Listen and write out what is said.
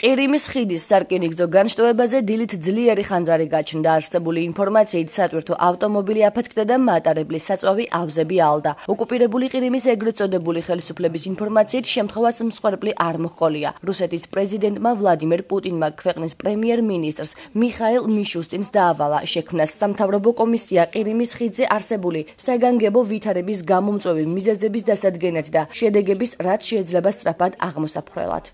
ყირიმის ხიდის სარკინიგზო განშტოებაზე დილით ძლიერი ხანძარი გაჩნდა. არსებული ინფორმაციით სატვირთო ავტომობილი აფეთქდა და მატარებლის საწვავი ავზები ალდა. ოკუპირებული ყირიმის ეგრეთ წოდებული ხელისუფლების ინფორმაციით შემთხვევას მსხვერპლი არ მოჰყოლია. რუსეთის პრეზიდენტმა ვლადიმერ პუტინმა ქვეყნის პრემიერ-მინისტრს მიხაილ მიშუსტინს დაავალა შექმნას სამთავრობო კომისია ყირიმის ხიდზე არსებული საგანგებო ვითარების გამომწვევი მიზეზების დასადგენად და შედეგების რაც შეიძლება სწრაფად აღმოსაფხრელად.